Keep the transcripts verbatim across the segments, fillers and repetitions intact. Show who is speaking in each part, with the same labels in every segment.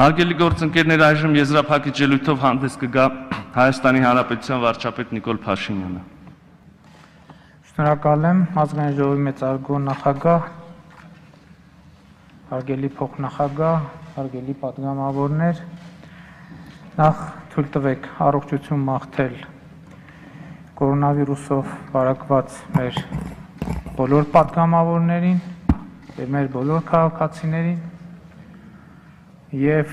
Speaker 1: Հարգելի գործընկերներ, այժմ եզրափակիչ ելույթով հանդես կգա Հայաստանի Հանրապետության վարչապետ Նիկոլ Փաշինյանը։
Speaker 2: Շնորհակալ եմ ազգային ժողովի մեծարգո նախագահ, հարգելի փոխնախագահ, հարգելի պատգամավորներ, նախ թույլ տվեք առողջություն մաղթել կորոնավիրուսով վարակված մեր բոլոր պատգամավորներին եւ մեր բոլոր քաղաքացիներին Եվ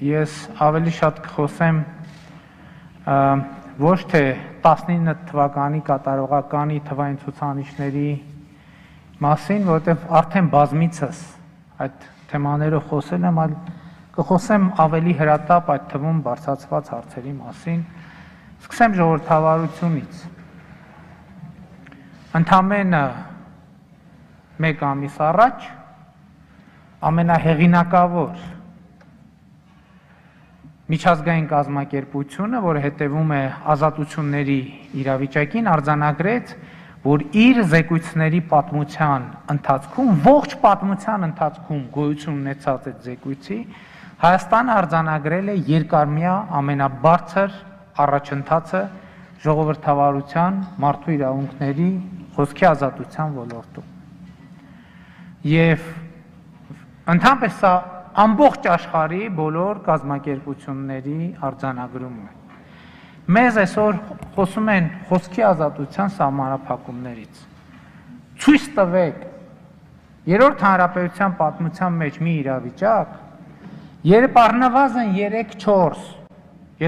Speaker 2: ես ավելի շատ կխոսեմ ոչ թե տասնինը թվականի կատարողականի թվային ցուցանիշների մասին, որովհետև արդեն բազմիցս այդ թեմաները խոսել եմ, այլ կխոսեմ ավելի հրատապ այդ թվում բարձրացված հարցերի մասին, սկսեմ ժողովրդավարությունից։ Ընդամենը մեկ ամիս առաջ ամենահեղինակավոր միջազգային կազմակերպությունը, որը հետևում է ազատությունների իրավիճակին, արձանագրեց, որ իր զեկույցների պատմության ընթացքում, ողջ պատմության ընթացքում գոյություն ունեցած այդ զեկույցի, Հայաստանը արձանագրել է երկարմյա ամենաբարձր առաջընթացը ժողովրդավարության, մարդու իրավունքների, խոսքի ազատության ոլորտում։ Եվ ընդհանրապես սա ամբողջ աշխարհի բոլոր կազմակերպությունների արձանագրումն է։ Մեզ այսօր խոսում են խոսքի ազատության սահմանափակումներից։ Ցույց տվեք երրորդ հանրապետության պատմության մեջ մի իրավիճակ, երբ առնվազն երեք չորս,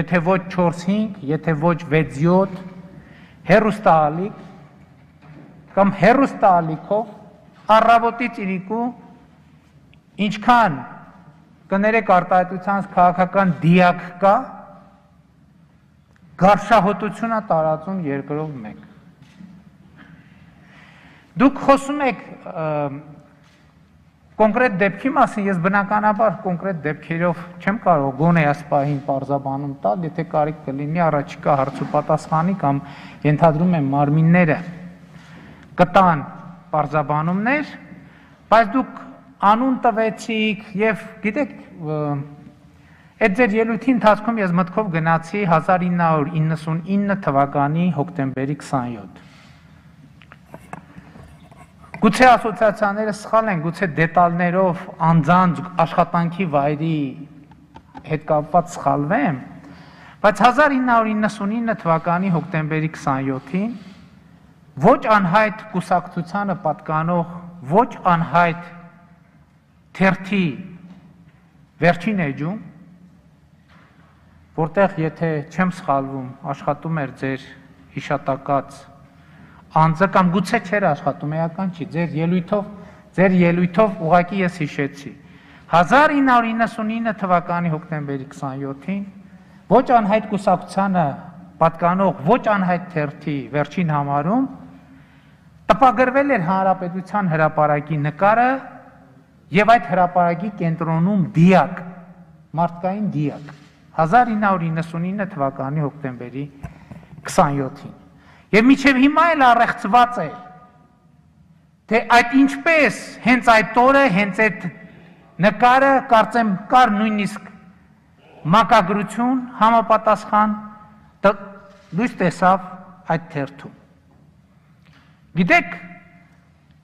Speaker 2: եթե ոչ չորս հինգ, եթե ոչ վեց յոթ հեռուստաալիք կամ հեռուստաալիքով առավոտից իրիկու ինչքան կներեք արտահայտության քաղաքական դիակ կա, գարշահոտությունը տարածում երկրով մեկ։ Դուք խոսում եք կոնկրետ դեպքի մասին, ես բնականաբար կոնկրետ դեպքերով չեմ կարող գոնե այս պահին պարզաբանում տալ, եթե կարիք կլինի առաջիկա հարց ու պատասխանի կամ ենթադրում եմ մարմինները կտան պարզաբանումներ, բայց դուք անուն տվեցիք եւ գիտեք այդ ձեր ելույթի ընթացքում ես մտքով գնացի հազար ինը հարյուր իննսունինը թվականի հոկտեմբերի քսանյոթ։ Գուցե ասոցիացիաները սխալ են, գուցե դետալներով անձանց աշխատանքի վայրի հետ կապված սխալվեմ, բայց հազար ինը հարյուր իննսունինը թվականի հոկտեմբերի քսանյոթին ոչ անհայտ կուսակցությանը պատկանող, ոչ անհայտ թերթի վերջին էջում, որտեղ եթե չեմ սխալվում, աշխատում էր ձեր հիշատակած անձը կամ գուցե չէր աշխատում, էական չի, ձեր ելույթով, ձեր ելույթով ուղղակի ես հիշեցի։ հազար ինը հարյուր իննսունինը թվականի հոկտեմբերի քսանյոթին ոչ անհայտ կուսակցությանը պատկանող, ոչ անհայտ թերթի վերջին համարում տպագրվել էր Հանրապետության հրապարակի նկարը Եվ այդ հրապարակի կենտրոնում դիակ, մարդկային դիակ, հազար ինը հարյուր իննսունինը թվականի հոկտեմբերի քսանյոթին։ Եվ մինչև հիմա էլ առեղծված է, թե այդ ինչպես հենց այդ օրը, հենց այդ նկարը, կարծեմ կար նույնիսկ մակագրություն, համապատասխան լույս տեսավ այդ թերթում։ Գիտեք,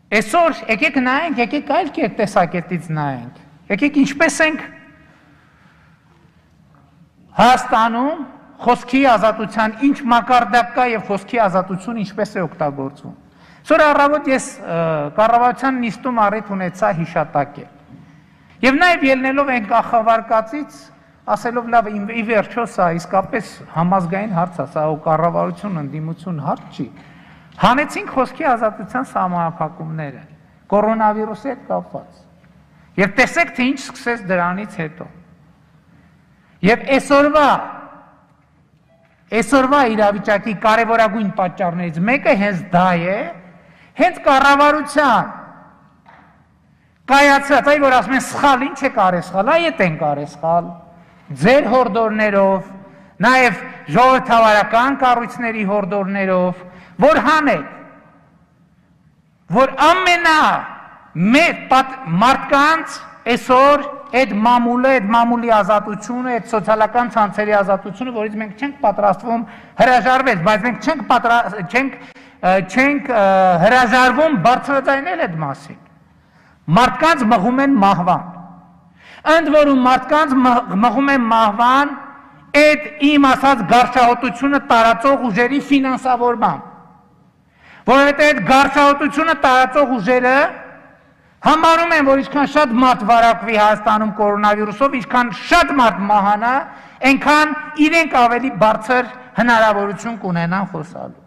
Speaker 2: Այսօր եկեք նայենք, եկեք այլ կերպ տեսակետից նայենք, եկեք ինչպես ենք Հայաստանում խոսքի ազատության ինչ մակարդակ կա եւ խոսքի ազատություն ինչպես է օգտագործվում։ Այսօր առավոտ ես կառավարության նիստում առիթ ունեցա հիշատակել։ Եվ նաեւ ելնելով այն կախավարկածից, ասելով լավ ի վերջո սա իսկապես համազգային հարց է, սա կառավարություն ընդդիմություն հարց չի։ Հանեցինք խոսքի ազատության սահմանափակումները, կորոնավիրուսի հետ կապված։ Եվ տեսեք, թե ինչ սկսեց դրանից հետո։ Եվ այսօրվա, այսօրվա իրավիճակի կարևորագույն պատճառներից մեկը հենց դա է, հենց կառավարության կայացած, այ որ ասում են սխալ, ինչ է կարե սխալ, այ էդ են կարե սխալ, ձեր հորդորներով, նաև ժողովրդավարական կառույցների հորդորներով, որ հանեք, որ ամենա մեծ մարդկանց այսօր այդ մամուլը, այդ մամուլի ազատությունը, այդ սոցիալական ցանցերի ազատությունը, որից մենք չենք պատրաստվում հրաժարվել, բայց մենք չենք չենք չենք հրաժարվում բարձրաձայնել այդ մասին։ Մարդկանց մղում են մահվան։ Ընդ որում մարդկանց մղում են մահվան այդ իմ ասած գարշահոտությունը տարածող ուժերի ֆինանսավորմամբ, որովհետև այդ գարշահոտությունը տարածող ուժերը համարում են, որ ինչքան շատ մարդ վարակվի Հայաստանում կորոնավիրուսով, ինչքան շատ մարդ մահանա, այնքան իրենք ավելի բարձր հնարավորություն կունենան խոսալու։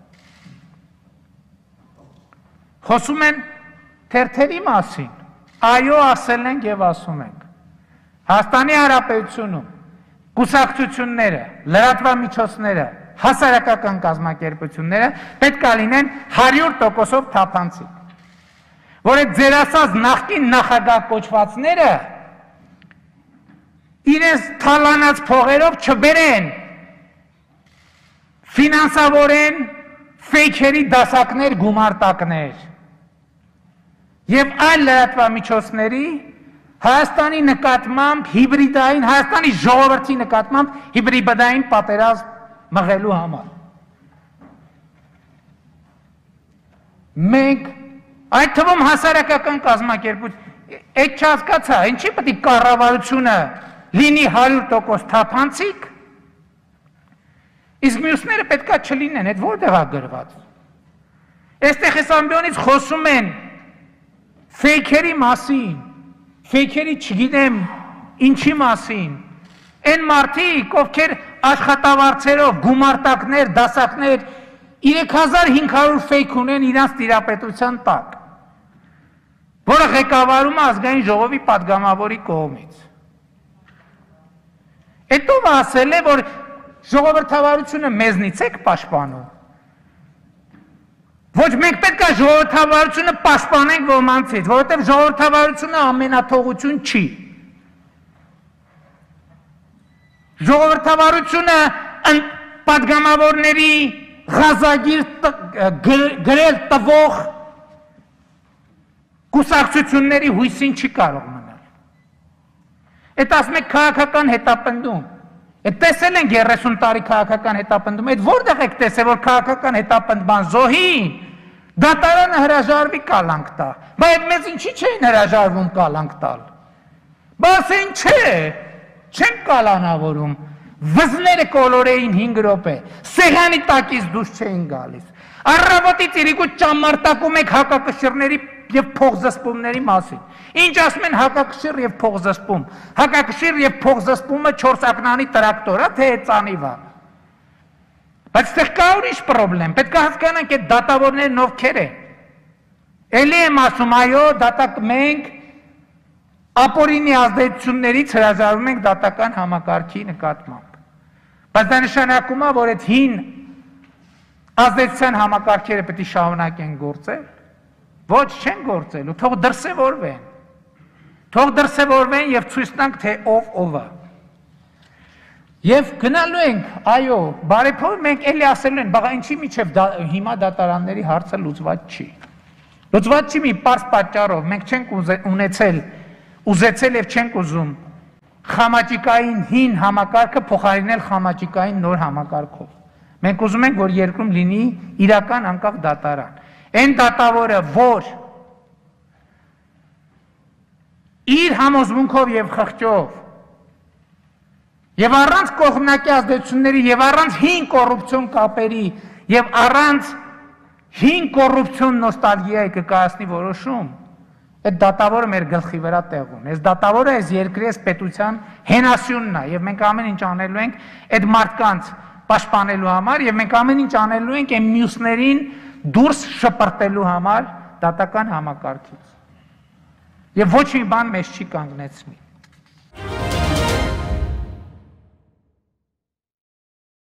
Speaker 2: Խոսում են թերթերի մասին, այո ասել ենք և ասում ենք։ Հայաստանի Հանրապետությունում կուսակցությունները, լրատվամիջոցները, հասարակական կազմակերպությունները պետք է լինեն հարյուր տոկոսով թափանցիկ, որ այդ ձեր ասած նախկին նախագահ կոչվածները իրենց թալանած փողերով չբերեն, ֆինանսավորեն ֆեյքերի դասակներ, գումարտակներ և այլ լրատվամիջոցների Հայաստանի նկատմամբ հիբրիդային, Հայաստանի ժողովրդի նկատմամբ հիբրիդային պատերազմ մղելու համար։ Մենք այդ թվում հասարակական կազմակերպություն, այդ չհասկացա, ինչի պետք է կառավարությունը լինի հարյուր տոկոս թափանցիկ, իսկ մյուսները պետք է չլինեն, այդ որտեղ է գրված։ Այստեղ այս ամբիոնից խոսում են ֆեյքերի մասին, ֆեյքերի չգիտեմ ինչի մասին, այն մարդիկ, ովքեր աշխատավարձերով, գումարտակներ, դասակներ, երեք հազար հինգ հարյուր ֆեյք ունեն իրանց տիրապետության տակ, որը ղեկավարում է ազգային ժողովի պատգամավորի կողմից։ Այդ ով ասել է, որ ժողովրդավարությունը մեզնից եք պաշտպանում։ Ոչ մենք պետք է ժողովրդավարությունը պաշտպանենք ոմանցից, որովհետև ժողովրդավարությունը ամենաթողություն չի։ Ժողովրդավարությունը պատգամավորների ղազագիր գրել տվող կուսակցությունների հույսին չի կարող մնալ։ Այդ ասում եք քաղաքական հետապնդում։ Այդ տեսել ենք երեսուն տարի քաղաքական հետապնդում, այդ որտեղ եք տեսել, որ քաղաքական հետապնդման զոհին դատարանը հրաժարվի կալանք տա, բայց այդ մեզ ինչի չէին հրաժարվում կալանք տալ։ Բայց այն չէ, չենք կալանավորում, վզները կոլորեին հինգ րոպե, սեղանի տակից դուրս չէին գալիս։ Առավոտից իրիկու ճամարտակում եք հակակշիռների և փողզսպումների մասին։ Ինչ ասում են հակակշիռ և փողզսպում։ Հակակշիռ և փողզսպումը չորս ակնանի տրակտոր է, թե ծանիվ է։ Բայց ստեղ կա ուրիշ պրոբլեմ, պետք է հասկանանք այդ դատավորներն ովքեր են։ Էլի եմ ասում, այո, դատակ մենք ապօրինի ազդեցություններից հրաժարվում ենք դատական համակարգի նկատմամբ։ Բայց դա նշանակում է, որ այդ հին ազդեցության համակարգերը պետք է շարունակեն գործել։ Ոչ չեն գործելու, թող դրսևորվեն։ Թող դրսևորվեն և ցույց տանք, թե ով ով է։ Եվ գնալու ենք, այո, բարեփոխ մենք էլի ասելու են, բաղա ինչի միջև հիմա դատարանների հարցը լուծված չի։ Լուծված չի մի պարզ պատճառով, մենք չենք ունեցել, ուզեցել և չենք ուզում խամաճիկային հին համակարգը փոխարինել խամաճիկային նոր համակարգով։ Մենք ուզում ենք, որ երկրում լինի իրական անկախ դատարան։ Այն դատավորը, որ իր համոզմունքով և խղճով և առանց կողմնակի ազդեցությունների և առանց հին կոռուպցիոն կապերի և առանց հին կոռուպցիոն նոստալգիայի կկայացնի որոշում, այդ դատավորը մեր գլխի վրա տեղ ունի։ Այս դատավորը այս երկրի, այս պետության հենասյունն է և մենք ամեն ինչ անելու ենք այդ մարդկանց պաշտպանելու համար և մենք ամեն ինչ անելու ենք այն մյուսներին դուրս շպրտելու համար դատական համակարգից։ Եվ ոչ մի բան մեզ չի կանգնեցնի։